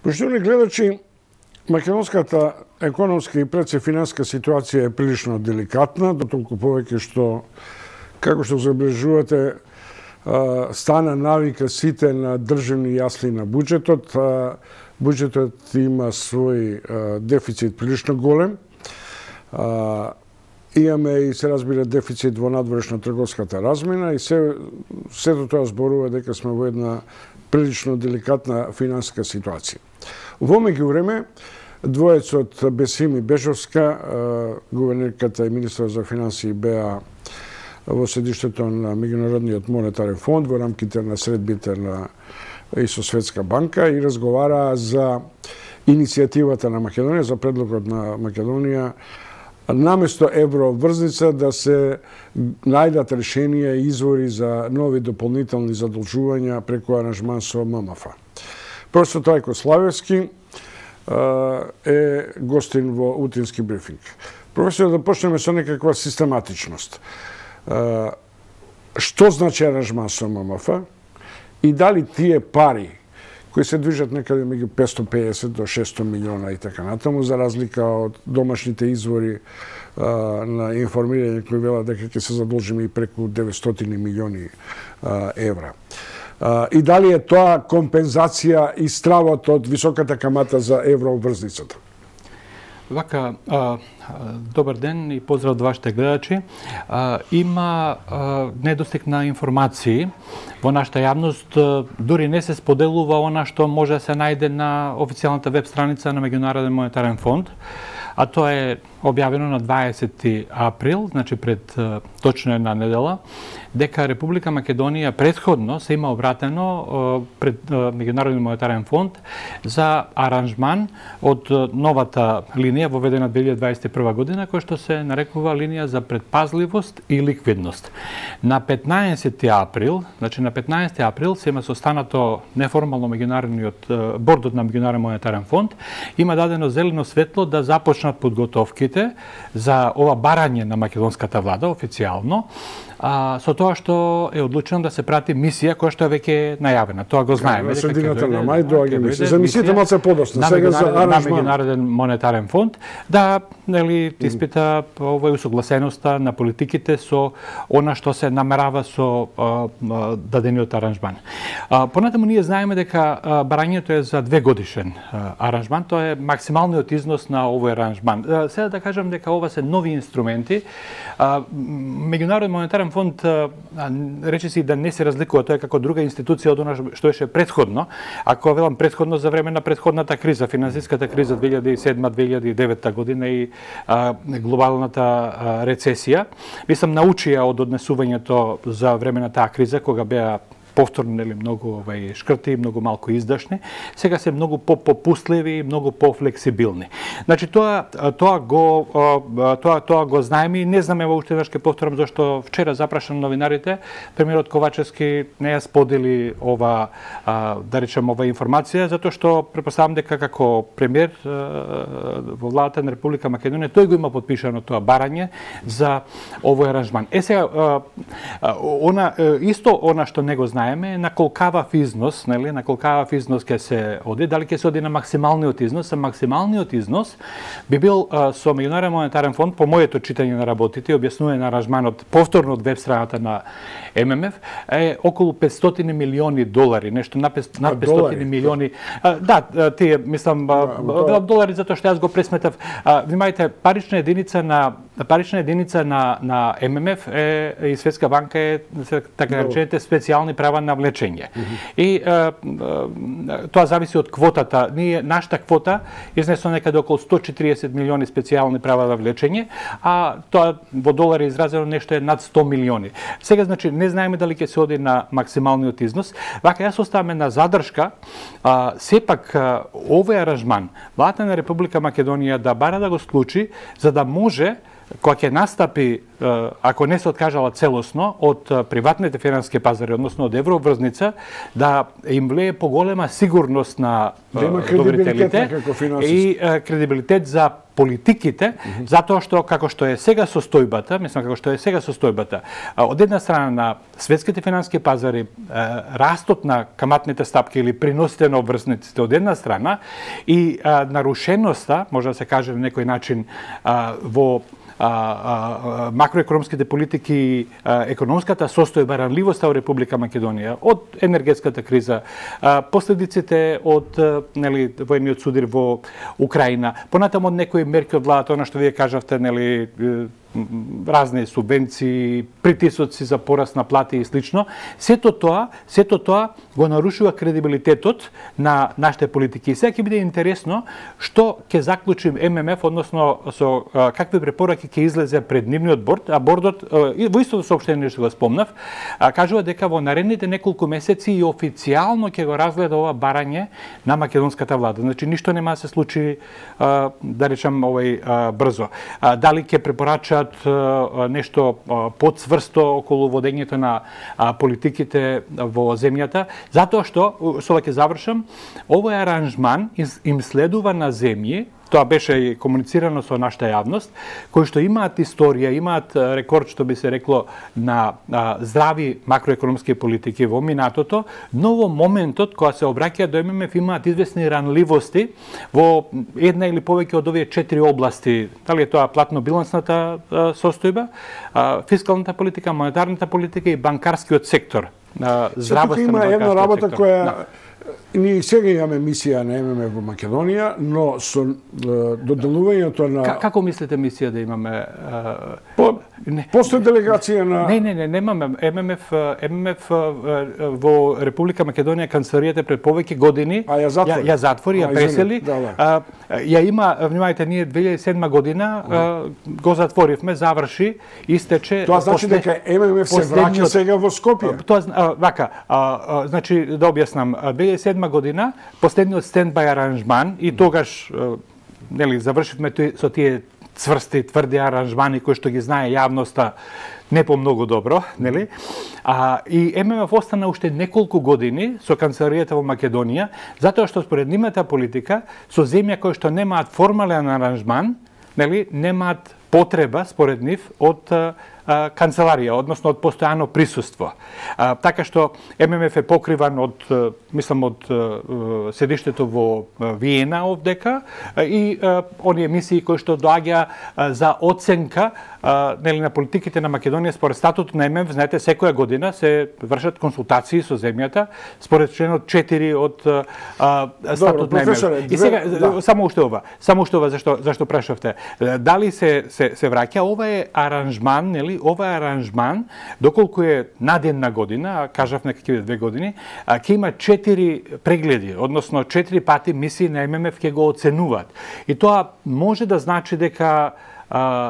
Поштовани гледачи, македонската економска и пред се финансска ситуација е прилично деликатна, дотолку повеќе што, како што забележувате, стана навика сите на државни јасли на буџетот. Буџетот има свој дефицит прилично голем. Имаме и се разбира дефицит во надворешна трговската размена и сето тоа зборува дека сме во една прилично деликатна финансска ситуација. Во меѓувреме, двоецот Бесим и Бежовска, гувернерката и министрот за финансии, беа во седиштето на Меѓународниот монетарен фонд во рамките на средбите на ИСО Светска банка и разговараа за иницијативата на Македонија, за предлогот на Македонија наместо евроврзница да се најдат решенија и извори за нови дополнителни задолжувања преку аранжман со ММФ. Професор Трајко Славевски е гостин во утински брифинг. Професор, да почнеме со некаква систематичност. Што значи аранжман со ММФ и дали тие пари кои се движат некаде меѓу 550 до 600 милиона и така натаму, за разлика од домашните извори на информирање кои велат дека ќе се задолжиме и преку 900 милиони евра. И дали е тоа компензација и стравот од високата камата за евроврзницата? Вака, добар ден и поздрав од вашите гледачи. Има недостиг на информации во нашата јавност, дури не се споделува она што може да се најде на официјалната веб страница на Меѓународен монетарен фонд, а тоа е објавено на 20 април, значи пред точно една недела, дека Република Македонија претходно се има обратено пред Меѓународен монетарен фонд за аранжман од новата линија воведена 2021 година, која што се нарекува линија за предпазливост и ликвидност. На 15 април, значи на 15 април се има состанато неформално бордот на Меѓународен монетарен фонд, има дадено зелено светло да започнат подготовките за ова барање на македонската влада официјално, со тоа што е одлучено да се прати мисија која што е веќе најавена. Тоа го знаеме. На средината на мај доаѓа мисија. За мисијата малце подоцна, сега за аранжман. На Меѓународен монетарен фонд да испита овој усогласеноста на политиките со она што се намерава со дадениот аранжман. Понатаму ние знаеме дека барањето е за 2 годишен аранжман, тоа е максималниот износ на овој аранжман. Сега да кажам дека ова се нови инструменти. Меѓународен монетарен фонд речиси да не се разликува, тоа е како друга институција од она што беше претходно. Ако велам претходно, за време на претходната криза, финансиската криза 2007-2009 година и глобалната рецесија, мислам научија од однесувањето за време на таа криза, кога беа повторно многу шкрти, многу малку издашни, сега се многу попустливи и многу пофлексибилни. Значи тоа го знаеме и не знаме уште веднаш ќе повторам зашто вчера запрашам новинарите, премиерот Ковачевски не ја сподели ова да речем ова информација, затоа што претпоставам дека како премиер во владата на Република Македонија тој го има подпишано тоа барање за овој аранжман. Сега исто она што не го знаеме на колкавав износ, на колкавав износ ќе се оди, дали ќе се оди на максималниот износ, а максималниот износ би бил со Меѓународен монетарен фонд, по моето читање на работите и објаснување на аранжманот повторно од веб страната на ММФ, е околу 500 милиони долари, нешто над 500 милиони. Да, тие мислам долари затоа што јас го пресметав. Внимајте, парична единица на ММФ и Светска банка е така речените специјални права на влечење. И тоа зависи од квотата. Нашата квота изнесла некаде околу 140 милиони специјални права на влечење, а тоа во долари изразено нешто е над 100 милиони. Сега, значи, не знаеме дали ќе се оди на максималниот износ. Вака, јас оставаме на задршка. Сепак, овој аранжман, владата на Република Македонија да бара да го склучи, за да може кога ќе настапи, ако не се откажала целосно од приватните финансиски пазари, односно од еврообврзница, да им влие поголема сигурност на доверителите и кредибилитет за политиките, затоа што како што е сега состојбата, од една страна на светските финансиски пазари, растот на каматните стапки или приносите на обврзниците од една страна и нарушеноста, може да се каже на некој начин, во макроекономските политики и економската состојба, ранливоста во Република Македонија, од енергетската криза, последиците од воениот судир во Украина, понатаму од некои мерки од владата, она што вие кажавте, разни субвенции, притисоци за пораст на плати и слично, сето тоа го нарушува кредибилитетот на нашите политики. И сега ќе биде интересно што ќе заклучим ММФ, односно со какви препораки ќе излезе пред нивниот борд, а бордот, во истото соопштение што го спомнав, кажува дека во наредните неколку месеци и официјално ќе го разгледа ова барање на македонската влада. Значи, ништо нема да се случи, да речам, брзо. Дали ќе препорачат нешто подцврсто околу водењето на политиките во земјата, затоа што, со ова ќе завршам, овој аранжман им следува на земји, тоа беше и комуницирано со нашата јавност, кои што имаат историја, имаат рекорд, што би се рекло, на здрави макроекономски политики во минатото, но во моментот, кога се обраќаат до ММФ, имаат известни ранливости во една или повеќе од овие 4 области. Дали е тоа платно-билансната состојба, фискалната политика, монетарната политика и банкарскиот сектор. Тука има една работа која ние сега имаме мисија на ММФ во Македонија, но со доделувањето на... Како мислите мисија да имаме? Постои делегација на... Не, немаме. ММФ во Република Македонија канцеларијата пред повеќе години ја затвори, ја пресели. Ја има, внимавајте, ние 2007 година го затворивме, заврши, истече... Тоа значи дека ММФ се враќа сега во Скопје. Тоа, вака, значи, да објаснам, 2007 година, последниот стендбај аранжман и тогаш, завршивме со тие цврсти, тврди аранжмани кои што ги знае јавноста не по многу добро, нели? И ММФ остана уште неколку години со канцеларијата во Македонија, затоа што според нивната политика, со земја кои што немаат формален аранжман, нели, немаат потреба, според нив, од канцеларија, односно од постојано присуство. Така што ММФ е покриван од, мислам, од седиштето во Виена овдека и оние мисии кои што доаѓа за оценка на политиките на Македонија според статутот на ММФ. Знаете, секоја година се вршат консултации со земјата според членот 4 од статутот на ММФ. И сега, само уште ова, зашто прашавте, дали се враќа, ова е аранжман, нели, ова е аранжман, доколку е на ден на година, кажав некако 2 години, ќе има 4 прегледи, односно 4 пати мисии на ММФ ќе го оценуваат. И тоа може да значи дека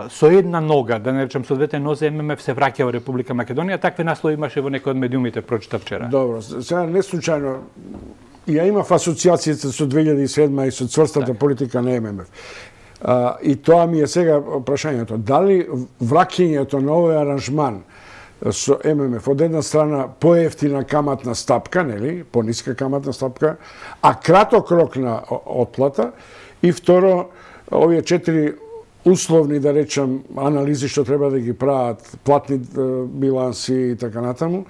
со една нога, да не речем со двете нозе, ММФ се враќа во Република Македонија. Такви наслови имаше во некој од медиумите, прочитав вчера. Добро, сега не случајно ја имав асоциацијата со 2007 и со цврстата политика на ММФ. И тоа ми е сега прашањето. Дали враќањето на овој аранжман со ММФ од една страна поевтина каматна стапка, нели, пониска каматна стапка, а краток рок на отплата, и второ, овие 4 условни, да речем, анализи што треба да ги прават, платни биланси и така натаму,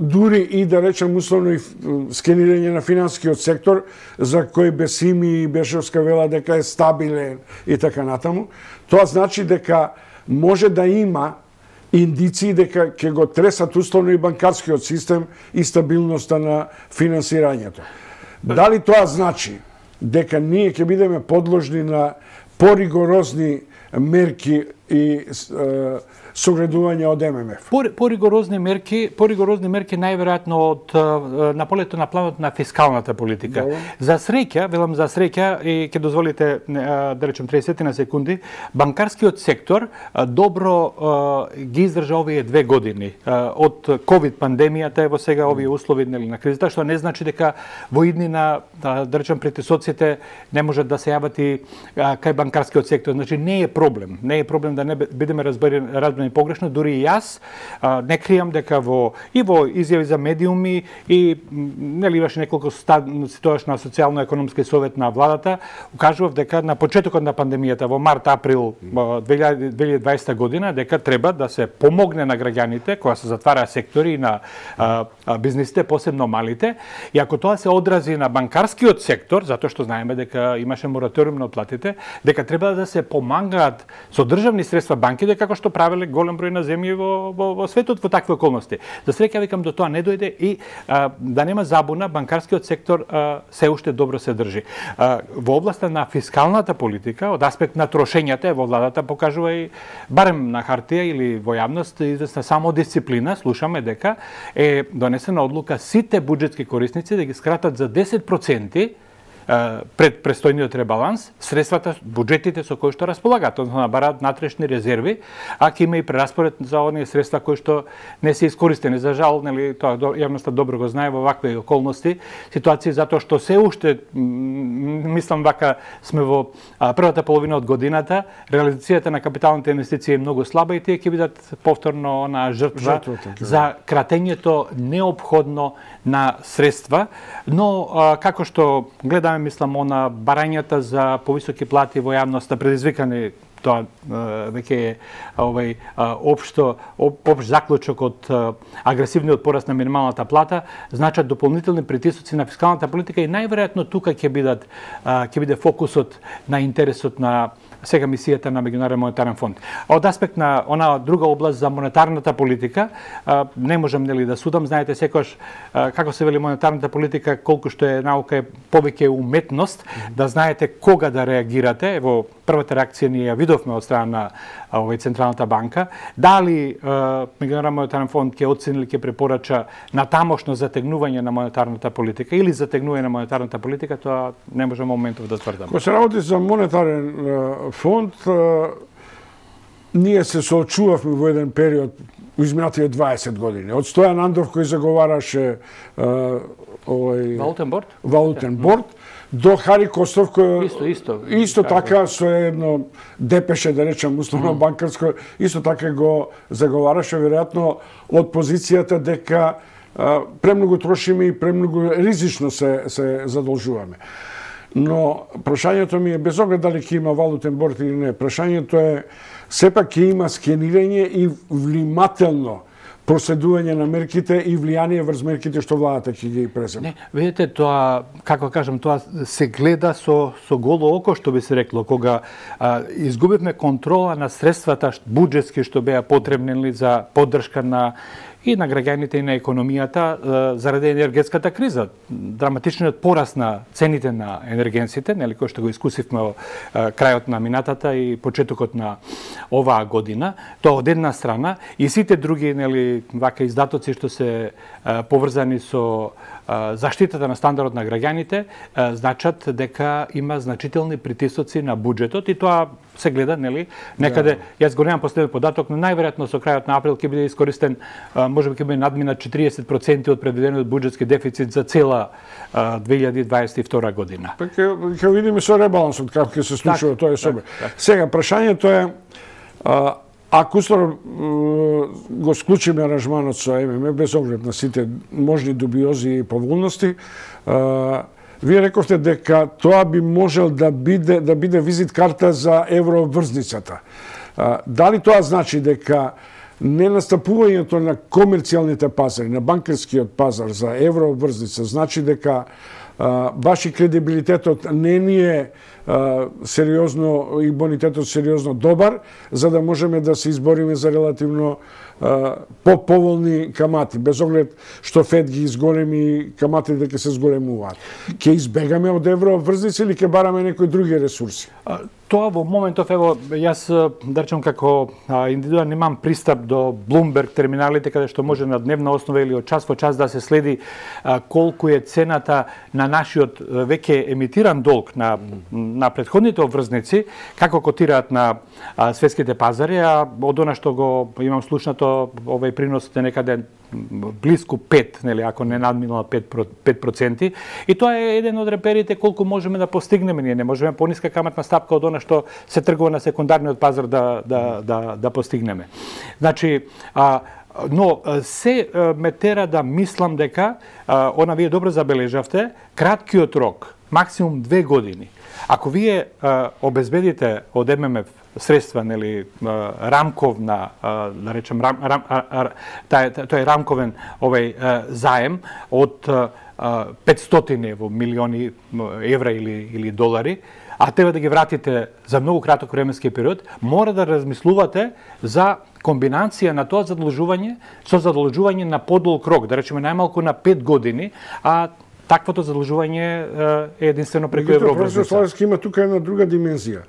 дури и, да речем, условно и скенирање на финансискиот сектор, за кој Бесими и Бешевска вела дека е стабилен и така натаму, тоа значи дека може да има индиции дека ќе го тресат условно и банкарскиот систем и стабилноста на финансирањето. Дали тоа значи дека ние ќе бидеме подложни на поригорозни мерки и согредување од ММФ. Поригорозни мерки најверојатно од на полето на планот на фискалната политика. Добре. За среќа, велам за среќа, и ќе дозволите да речем 30 на секунди, банкарскиот сектор добро ги издржа овие 2 години од ковид пандемијата, ево сега овие услови на кризата, што не значи дека во иднина, да речем, претисоците не можат да се јават и кај банкарскиот сектор. Значи не е проблем да не бидеме разбрани погрешно, дури и јас не кријам дека во изјави за медиуми и нели имаше неколку ситуаш на социјално-економски совет на владата, укажував дека на почетокот на пандемијата во март-април 2020 година дека треба да се помогне на граѓаните кога се затвара сектори и на бизнисите, посебно малите, и ако тоа се одрази на банкарскиот сектор, затоа што знаеме дека имаше мораториум на отплатите, дека треба да се помагаат со државни средства банките, како што правеле голем број на земји во светот во такви околности. За среќа, викам, до тоа не дојде и да нема забуна, банкарскиот сектор се уште добро се држи. Во областа на фискалната политика, од аспект на трошењата, во владата покажува и барем на хартија или во јавност известна самодисциплина. Слушаме дека е донесена одлука сите буџетски корисници да ги скратат за 10% пред престојниот ребаланс средствата, буџетите со кои што располагаат, односно набараат натрешни резерви, а ќе има и прераспоред за оние средства кои што не се искористени. За жал, нели, тоа јавноста добро го знае во вакви околности, ситуации, затоа што се уште, мислам вака, сме во првата половина од годината, реализацијата на капиталните инвестиции е многу слаба и тие ќе бидат повторно она жртва за кратењето неопходно на средства, но како што гледаме, мислам, на барањата за повисоки плати во јавноста предизвикани, тоа веќе е општ заклучок од агресивниот пораст на минималната плата, значат дополнителни притисоци на фискалната политика и најверојатно тука ќе биде фокусот на интересот на сега мисијата на Меѓународен монетарен фонд. Од аспект на она друга област за монетарната политика, не можам нели да судам, знаете секогаш како се вели монетарната политика, колку што е наука е повеќе уметност, да знаете кога да реагирате. Во првата реакција ние ја видовме од страна на Централната банка. Дали Меѓународен монетарен фонд ќе оцени или ќе препорача натамошно затегнување на монетарната политика или затегнување на монетарната политика, тоа не можеме моментов да тврдам. Кога се работи за монетарен фонд, ние се соочувавме во еден период во изминатите 20 години. Од Стојан Андов кој заговараше валутен борд, до Хари Костов кој исто така со едно депеше, да речем, условно банкарско, исто така го заговараше веројатно од позицијата дека премногу трошиме и премногу ризично се задолжуваме. Но прашањето ми е, без оглед дали ќе има валутен борд или не, прашањето е сепак ќе има скенирање и внимателно проследување на мерките и влијание врз мерките што владата ќе ги преземе. Не, видите, тоа, како кажам, тоа се гледа со голо око, што би се рекло, кога изгубивме контрола на средствата буџетски што беа потребни за поддршка на и на граѓаните и на економијата заради енергетската криза. Драматичниот пораст на цените на енергенсите, нели, кој што го искусивме во крајот на минатата и почетокот на оваа година, тоа од една страна, и сите други, нели, вака издатоци што се поврзани со заштитата на стандардот на граѓаните, значат дека има значителни притисоци на буџетот и тоа се гледа, нели, некаде, јас го немам последен податок, но најверојатно со крајот на април ќе биде искористен, можеби ќе биде надминат 40% од предвидениот буџетски дефицит за цела 2022 година. Па ќе видиме со ребалансот како ќе се случува тоа собе. Сега прашањето е, ако устно го склучиме аранжманот со ММФ без оглед на сите можни дубиози и поволности, вие рековте дека тоа би можел да биде визит карта за евроврзницата. Дали тоа значи дека не настапувањето на комерцијалните пазари, на банкарскиот пазар за евроврзница, значи дека баш и кредибилитетот не ни е сериозно и бонитетот сериозно добар, за да можеме да се избориме за релативно по-поволни камати, без оглед што Фед ги изголеми каматите дека се зголемуваат. Ќе избегаме од евроврзници или ќе бараме некои други ресурси? Тоа во моментов, ево, јас, да речем, како индивидуален имам пристап до Bloomberg терминалите, каде што може на дневна основа или од час во час да се следи колку е цената на нашиот веќе емитиран долг на претходните обврзници, како котираат на светските пазари, а од она што го имам слушнато, овој приносот е некаде близко 5, нели, ако не надминала 5%. И тоа е еден од реперите колку можеме да постигнеме. Ние не можеме пониска каматна стапка од она што се тргува на секундарниот пазар да постигнеме. Значи, но се ме тера да мислам дека, она вие добро забележавте, краткиот рок, максимум 2 години. Ако вие обезбедите од ММФ средства, нели, рамковна, да речем, тој рамковен овој заем од 500 милиони евра или долари, а треба да ги вратите за многу краток временски период, мора да размислувате за комбинација на тоа задолжување со задолжување на подолг рок, да речеме најмалку на 5 години, а таквото задолжување е единствено преку евроврзница. Словенски има тука една друга димензија.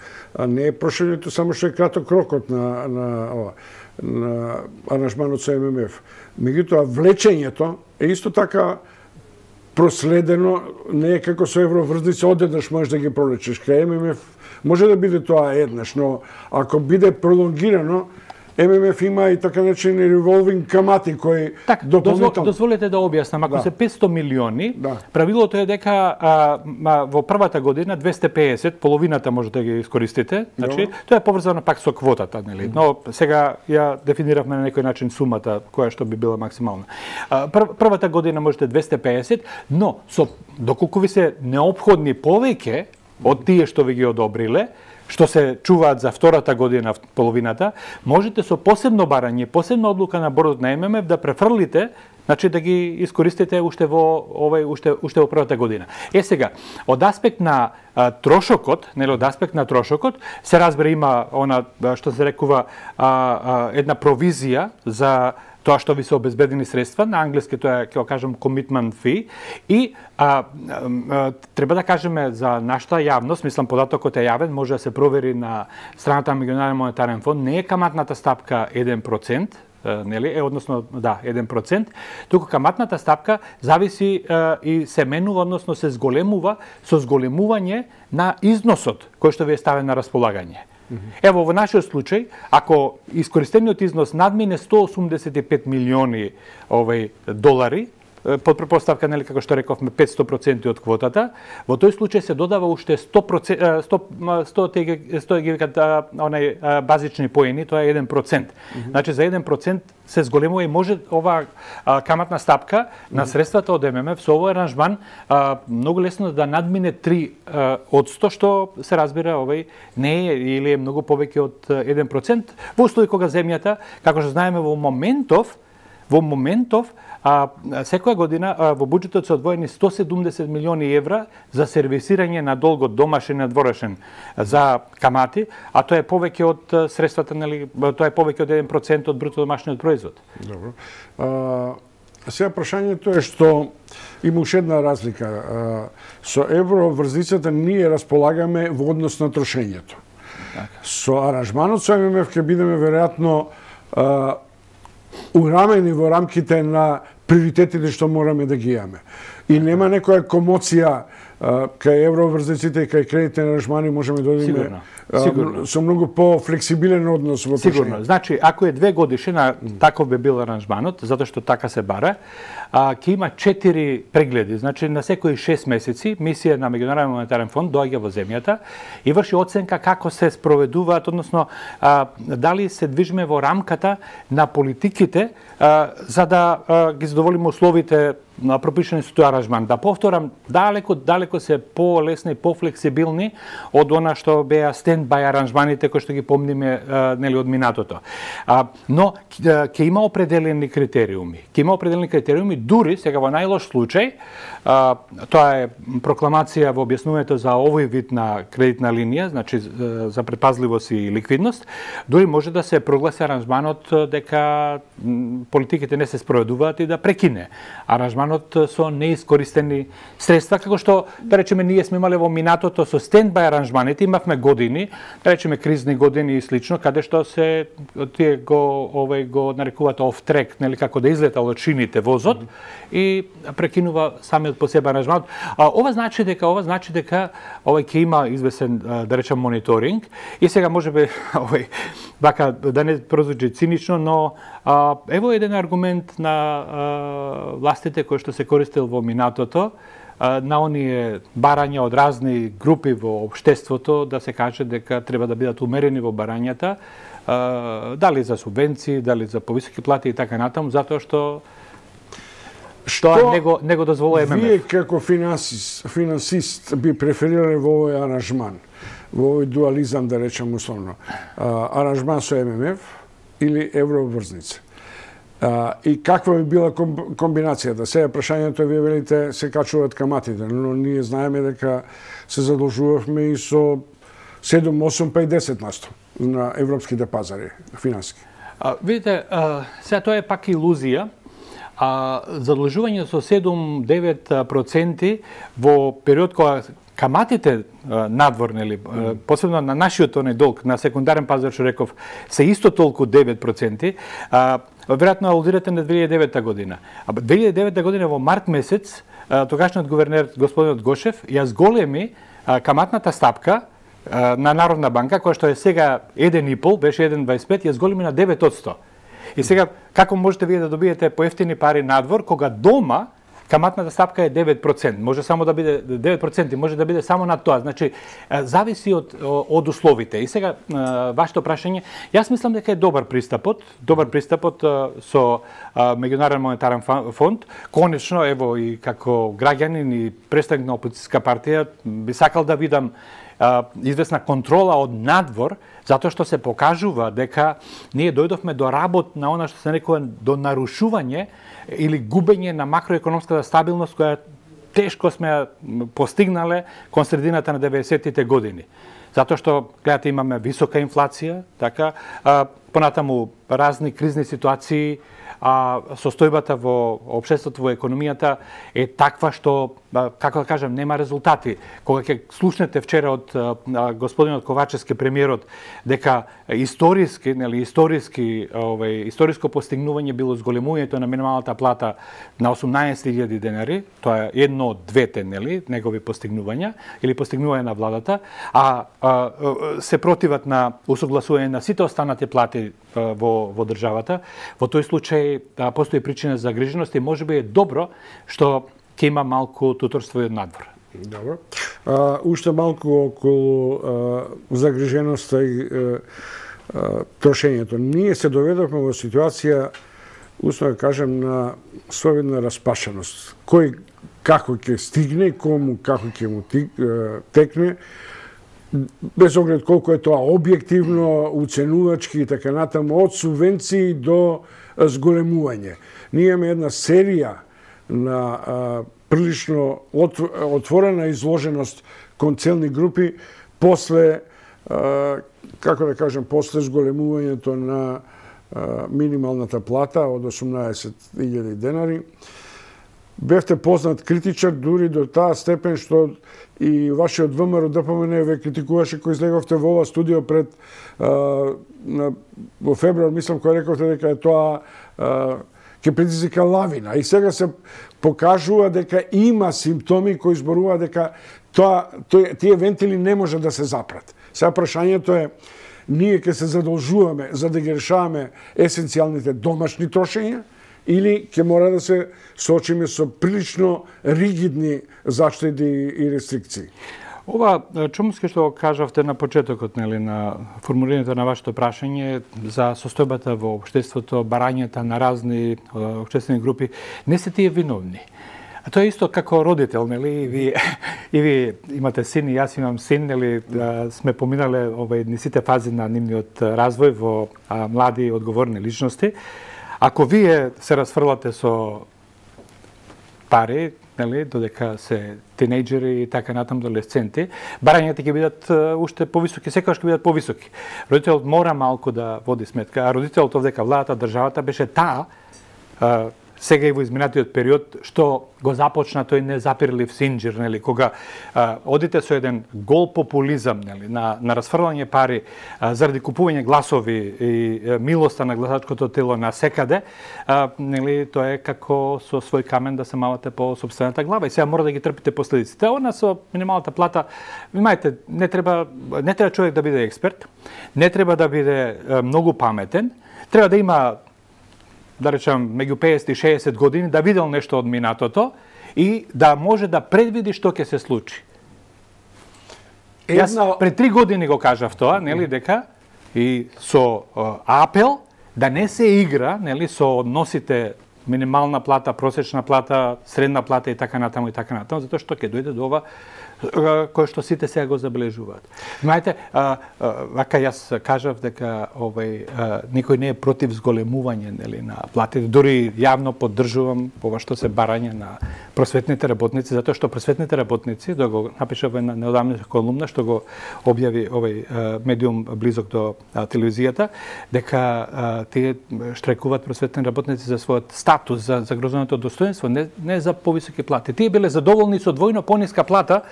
Не е прошењето само што е краток рокот на аранжманот со ММФ. Меѓутоа, влечењето е исто така проследено, не е како со евроврзница, одеднаш можеш да ги пролечиш. Кај ММФ може да биде тоа еднаш, но ако биде пролонгирано, ММФ има и така наречени револвинг камати кои дополнително. Дозволете да објаснам, ако се 500 милиони, правилото е дека во првата година 250, половината може да ги искористите. Значи, тоа е поврзано пак со квотата, нели? Но сега ја дефиниравме на некој начин сумата која што би била максимална. Првата година можете 250, но доколку ви се неопходни повеќе од тие што ви ги одобриле, што се чуваат за втората година, половината, можете со посебно барање, посебна одлука на бордот на ММФ да префрлите, значи да ги искористите уште во првата година. Сега, од аспект на трошокот, нели, од аспект на трошокот, се разбира има она што се рекува една провизија за тоа што ви се обезбедени средства, на англиски тоа е, ќе го кажам, commitment fee, и треба да кажеме за нашата јавност, мислам податокот е јавен, може да се провери на страната на Меѓународен монетарен фонд, не е каматната стапка 1%, нели, односно, да, 1%, туку каматната стапка зависи и се менува, односно се зголемува со зголемување на износот кој што ви е ставен на располагање. Ево, во нашиот случај, ако искористениот износ надмине 185 милиони долари, под предпоставка, нели, како што рековме, 500% од квотата, во тој случај се додава уште 100 базични поени, тоа е 1%. Значи, за 1% се зголемува и може ова каматна стапка на средствата од ММФ со овој аранжман многу лесно да надмине 3%, што се разбира не е или е многу повеќе од 1%, во услови кога земјата, како што знаеме во моментов секоја година во буџетот се одвоени 170 милиони евра за сервисирање на долгот домашен и надворешен за камати, а тоа е повеќе од средствата, нели, тоа е повеќе од 1% од бруто домашниот производ. Добро. Сега прашањето е што има уште една разлика. Со евроврзницата ние располагаме во однос на трошењето. Со аранжманот со ММФ ќе бидеме веројатно урамени во рамките на приоритетите што мораме да ги имаме. И нема некоја комоција кај евроврзниците и кај кредитни аранжмани можеме да одиме со многу по-флексибилен однос во трошење. Сигурно. Значи, ако е 2 годишина, таков би бил аранжманот, затоа што така се бара, ќе има 4 прегледи. Значи, на секои 6 месеци мисија на Меѓународен монетарен фонд доаѓа во земјата и врши оценка како се спроведуваат, односно дали се движиме во рамката на политиките за да ги задоволиме условите пропишани со тој аранжман. Да повторам, далеко се полесни и пофлексибилни од она што беа стендбај аранжманите кои што ги помниме нели од минатото. Но ќе има определени критериуми. Дури сега во најлош случај, тоа е прокламација во објаснувањето за овој вид на кредитна линија, значи за предпазливост и ликвидност, дури може да се прогласи аранжманот дека политиките не се спроведуваат и да прекине аранжманот со неискористени средства, како што, да речеме, ние сме имале во минатото со стендбај аранжманите, имавме години, да речеме кризни години и слично, каде што се тие го нарекуваат off track, нели, како да излета од шините возот и прекинува самиот по себе аранжманот. Ова значи дека ќе има известен, да речем, мониторинг и сега можеби вака да не прозвучи цинично, но ево еден аргумент на властите кои што се користел во минатото, на оние барања од разни групи во општеството, да се каже дека треба да бидат умерени во барањата, дали за субвенции, дали за повисоки плати и така натаму, затоа што не го дозволува ММФ. Вие како финансист би преферирале во овој аранжман, во овој дуализам, да речем условно, аранжман со ММФ или еврообврзница? И каква би била комбинацијата? Сега прашањето, вие велите, се качуваат каматите, но ние знаеме дека се задолжувавме и со 7, 8, па и 10% на европските пазари финански. Видите, сега тоа е пак илузија. Задолжување со 7-9% во период кога каматите надвор, нели, посебно на нашиот долг, на секундарен пазар, што реков, се исто толку 9%, веројатно алудирате на 2009 година. 2009 година во март месец, тогашниот гувернер господинот Гошев ја зголеми каматната стапка на Народна банка, која што е сега 1,5, беше 1,25, ја зголеми на 9%. И сега, како можете вие да добиете поевтини пари надвор, кога дома каматната стапка е 9%, може само да биде 9%, може да биде само над тоа. Значи, зависи од условите. И сега, вашето прашање, јас мислам дека е добар пристапот со Меѓународен монетарен фонд. Конечно, ево, и како граѓанин и представник на опозицијска партија, би сакал да видам известна контрола од надвор, затоа што се покажува дека ние дојдовме до работ на она што се нарекува до нарушување или губење на макроекономската стабилност која тешко сме постигнале кон средината на 90-тите години. Затоа што, гледате, имаме висока инфлација, така, понатаму разни кризни ситуации, состојбата во општеството, во економијата е таква што, како да кажем, нема резултати. Кога ќе слушнете вчера од господинот Ковачевски, премиерот, дека историско постигнување било зголемувањето на минималната плата на 18.000 денари, тоа е едно од двете, нели, негови постигнувања или постигнување на владата, се противат на усогласување на сите останати плати во државата. Во тој случај постои причина за загриженост и можеби е добро што ќе има малку туторство и од надвор. Добро. Уште малку околу загриженоста и трошењето. Ние се доведовме во ситуација, условно да кажем, на совидна распашеност. Кој како ќе стигне, кому како ќе му текне, без оглед колку е тоа објективно, уценувачки и така натаму, од субвенции до зголемување. Ние имаме една серија на прилично отворена изложеност кон целни групи после, како да кажем, после зголемувањето на минималната плата од 18.000 денари. Бевте познат критичар дури до таа степен што и вашиот ВМРО ДПМН ве критикуваше кој излеговте во ова студио пред во февруар, мислам, кој рековте дека е тоа ќе предизвика лавина. И сега се покажува дека има симптоми кои зборуваат дека тие вентили не може да се запрат. Сега прашањето е, ние ќе се задолжуваме за да ги решаваме есенцијалните домашни трошења, или ќе мора да се соочиме со прилично ригидни заштеди и рестрикции? Ова чумски што кажавте на почетокот, нели, на формулирањето на вашето прашање за состојбата во општеството, барањата на разни општествени групи, не се тие виновни. А тоа е исто како родител, нели, и ви имате син, и јас имам син, нели, сме поминале низ сите фази на нивниот развој во млади одговорни личности. Ако вие се расфрлате со пари, нели, додека се тинејџери и така натаму адолесценти, барањата ќе бидат уште повисоки, секогаш ќе бидат повисоки. Родителот мора малку да води сметка, а родителот овдека владата, државата беше таа, сега и во изминатиот период, што го започна тој незапирлив синџир, нели, кога одите со еден гол популизам, нели, на расфрлање пари заради купување гласови и милоста на гласачкото тело на секаде, нели, тоа е како со свој камен да се мавате по сопствената глава и сега мора да ги трпите последиците. Она со минималната плата, имајте, не треба човек да биде експерт, не треба да биде многу паметен, треба да има, да речем, меѓу 50 и 60 години, да видел нешто од минатото и да може да предвиди што ќе се случи. Јас пред 3 години го кажав тоа, нели, дека и со апел да не се игра, нели, со односите минимална плата, просечна плата, средна плата и така натаму, затоа што ќе дојде до ова кој што сите сега го забележуваат. Знаете, вака јас кажав дека никој не е против зголемување, нели, на платите, дури јавно поддржувам ова што се барање на просветните работници, затоа што просветните работници, да го напишав една неодамна колумна што го објави овој медиум близок до телевизијата, дека тие штрекуваат просветни работници за својот статус, за загрозеното достоинство, не за повисоки плати. Тие биле задоволни со двојно пониска плата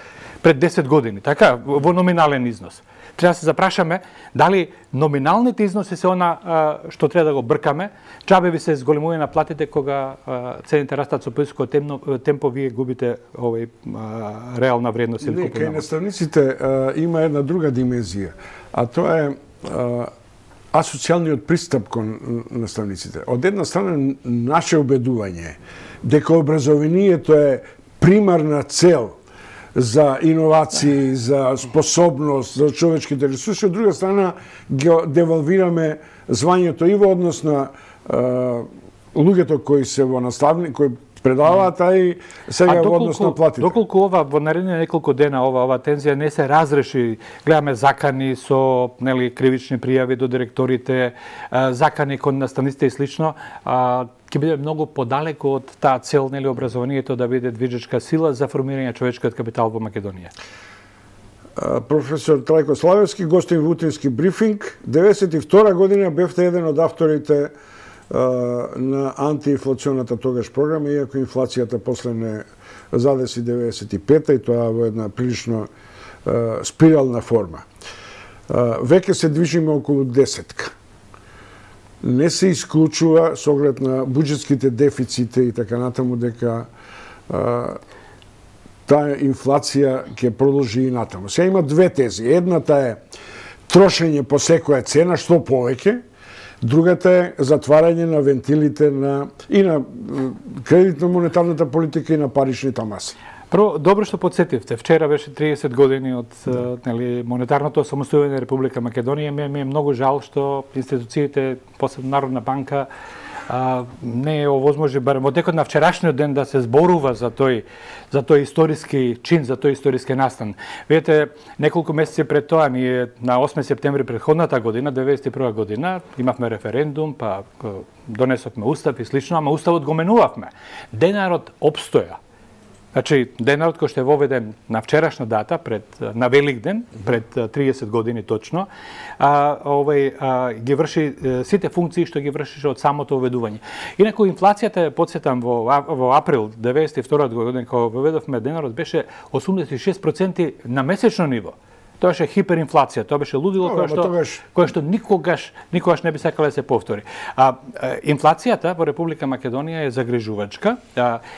пред 10 години, така, во номинален износ. Треба да се запрашаме дали номиналните износи се она што треба да го бркаме, чабе ви се зголемување на платите кога цените растат со повисоко темпо, вие губите реална вредност или купувна. Кај наставниците има една друга димензија, а тоа е асоцијалниот пристап кон наставниците. Од една страна наше убедување дека образованието е примарна цел за иновации, за способност, за човечките ресурси, од друга страна ги девалвираме звањето и во однос на луѓето кои се во кои предаваат, а и сега во однос на платите. Доколку ова во наредни неколку дена ова тензија не се разреши, гледаме закани со, нели, кривични пријави до директорите, закани кон наставниците и слично, ќе биде многу подалеку од таа цел, нели, образованието да биде движечка сила за формирање човечкиот капитал во Македонија. Професор Трајко Славевски, гостин во утрински брифинг. 92 година бевте еден од авторите на антиинфлационата тогаш програма, иако инфлацијата после не задеси 95-та и тоа во една прилично спирална форма. Веќе се движиме околу 10-ка. Не се исклучува со оглед на буџетските дефицити и така натаму дека таа инфлација ќе продолжи и натаму. Сега има две тези. Едната е трошење по секоја цена, што повеќе. Другата е затварање на вентилите и на кредитно-монетарната политика и на паричните маси. Прво, добро што подсетивте. Вчера беше 30 години од, нели, монетарното самостојување на Република Македонија. Ми е многу жал што институциите, посебно Народна банка, не е овозможи барем од декот на вчерашниот ден да се зборува за тој историски чин, за тој историски настан. Видете, неколку месеци пред тоа, ние на 8 септември претходната година, 91 година, имавме референдум, па донесовме устав и слично, ама уставот го менувавме. Денарот опстоја. Значи, денарот кој што е воведен на вчерашна дата, на Великден, пред 30 години точно, ги врши сите функции што ги вршише од самото воведување. Инаку инфлацијата, подсетам, во април 92 година, кога воведовме денарот, беше 86% на месечно ниво. Тоа беше хиперинфлација, тоа беше лудило кое што никогаш не би сакале да се повтори. Инфлацијата во Република Македонија е загрижувачка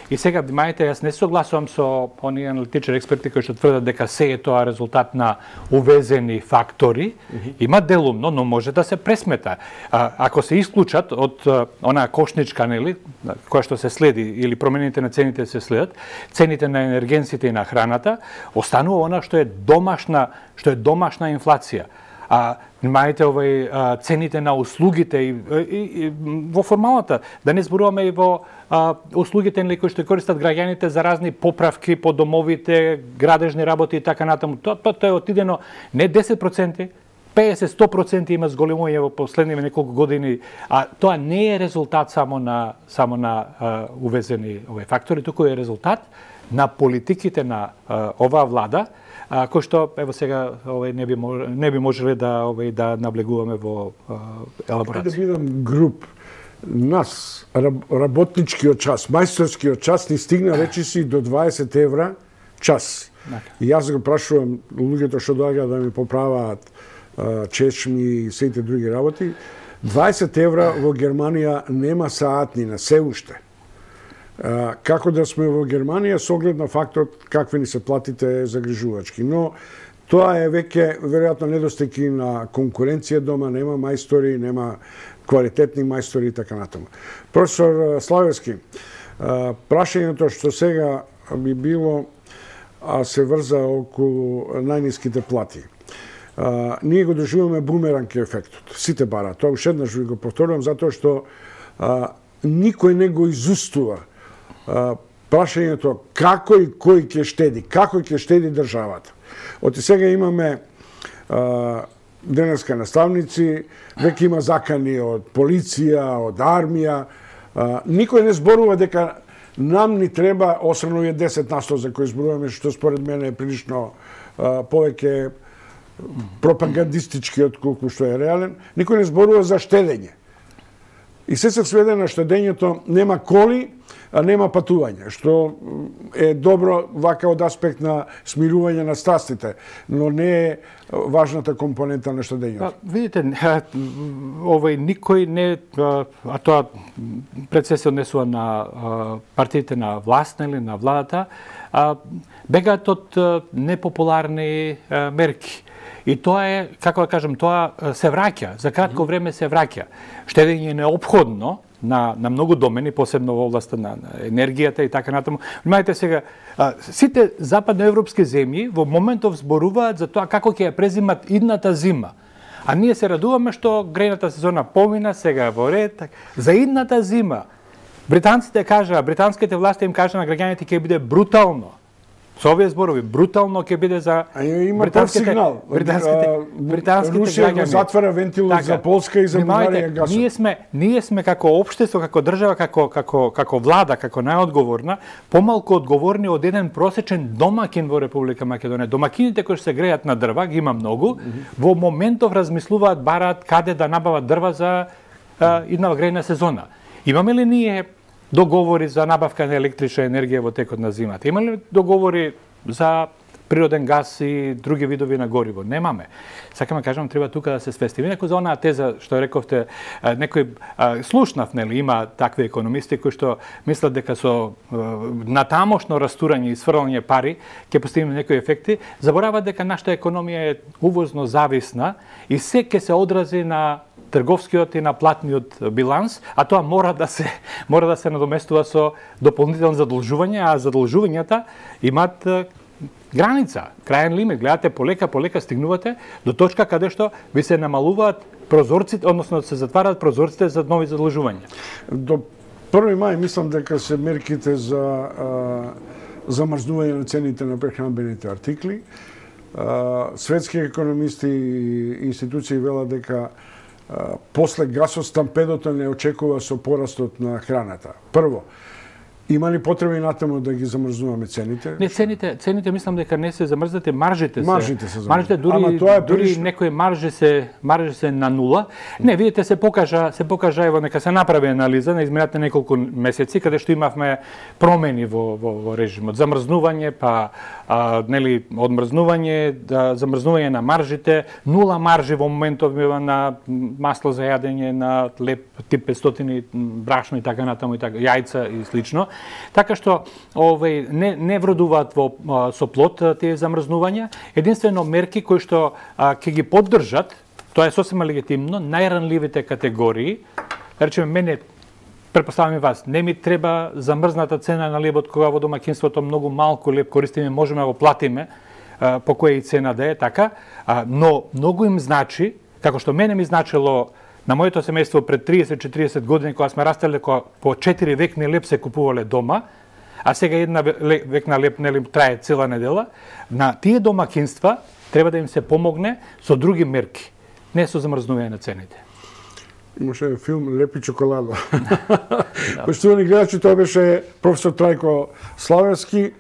и сега внимавајте, јас не согласувам со оние аналитичари експерти кои што тврдат дека се е тоа резултат на увезени фактори. Има делумно, но може да се пресмета. Ако се исклучат од онаа кошничка, нели, која што се следи или промените на цените се следат, цените на енергенсите и на храната, останува она што е домашна инфлација. Внимавајте цените на услугите и во формалната, да не зборуваме и во услугите кои што користат граѓаните за разни поправки по домовите, градежни работи и така натаму. Тоа е отидено не 10%, 50-100% има зголемување во последниве неколку години, а тоа не е резултат само на увезени фактори, туку е резултат на политиките на оваа влада, кој што ево сега не би можеле да наблегуваме во елаборација. Да бидам груп. Нас работничкиот час, мајсторскиот час ни стигна речиси до 20 евра час. И јас го прашувам луѓето што доаѓаат да ми поправаат чешми и сите други работи. 20 евра во Германија нема саатнина, се уште. Како да сме во Германија со оглед на факторот какви ни се платите загрижувачки. Но тоа е веќе веројатно недостиг на конкуренција дома, нема мајстори, нема квалитетни мајстори и така натаму. Професор Славевски, прашањето што сега би било се врза околу најниските плати. Ние го доживуваме бумеранг ефектот. Сите бараат. Тоа уште еднаш ви го повторувам затоа што никој не го изустува прашањето како и кој ќе штеди, како ќе штеди државата. Оти сега имаме денеска наставници, веќе има закани од полиција, од армија. Никој не зборува дека нам ни треба, освен овие 10% за кои зборуваме, што според мене е прилично повеќе пропагандистички отколку што е реален, никој не зборува за штедење. И се сведе на штедењето, нема коли, а нема патување, што е добро вака од аспект на смирување на страстите, но не е важната компонента на штедењето. Видите, никој не, а тоа пред се однесува на партиите на власт или на владата, бегаат од непопуларни мерки. И тоа е, како да кажем, тоа се враќа, за кратко време се враќа. Штедење е неопходно на многу домени, посебно во областа на енергијата и така натаму. Внимавајте сега, сите западноевропски земји во моментов зборуваат за тоа како ќе ја презимат идната зима. А ние се радуваме што грејната сезона помина, сега во ред. За идната зима, британските власти им кажа на граѓаните ќе биде брутално. Со овие зборови, брутално ќе биде за британските Русија го затвара вентилот за Полска и за Бугарија гасот. Ние сме како општество, како држава, како влада, како најодговорна, помалку одговорни од еден просечен домакин во Република Македонија. Домакините кои се грејат на дрва, ги има многу, во моментов размислуваат, бараат каде да набават дрва за иднава грејна сезона. Имаме ли ние договори за набавка на електрична енергија во текот на зимата? Има ли договори за природен газ и други видови на гориво? Немаме. Сакам да кажам, треба тука да се свести. Инаку за онаа теза што рековте, некој слушнав, нели, има такви економисти кои што мислат дека со натамошно растурање и сврлање пари ќе постигнеме некои ефекти, забораваат дека нашата економија е увозно зависна и се ќе се одрази на трговскиот и на платниот биланс, а тоа мора да се надоместува со дополнителни задолжувања, а задолжувањата имаат граница, крајен лимит. Гледате, полека стигнувате до точка каде што ви се намалуваат прозорците, односно се затвараат прозорците за нови задолжувања. До 1 мај мислам дека се мерките за замрзнување на цените на прехранбените артикли. Светски економисти и институции велат дека после гасостампедото не очекува со порастот на храната. Прво, Има ли потреба и натаму да ги замрзнуваме цените? Не, цените мислам дека не се замрзнати, маржите се. Маржите се маржите дури некои маржи се на нула. Не, видите, се покажа ево нека се направи анализа на изминатите неколку месеци каде што имавме промени во режимот, замрзнување, па нели одмрзнување, замрзнување на маржите, нула маржи во моментов на масло за јадење, на леп тип 500 брашно и така натаму и така, јајца и слично. Така што не вродуваат со плод тие замрзнувања, единствено мерки кои што ќе ги поддржат, тоа е сосема легитимно, најранливите категории. Речеме, мене, претпоставам и вас, не ми треба замрзната цена на лебот кога во домаќинството многу малку леб користиме, можеме да го платиме по која и цена да е така, но многу им значи, како што мене ми значило на моето семејство пред 30-40 години, кога сме растеле, по 4 векни леб се купувале дома, а сега една векна леб трае цела недела, на тие домакинства треба да им се помогне со други мерки, не со замрзнување на цените. Имаше филм Леп и чоколада. Поштовани гледачи, тоа беше професор Трајко Славевски,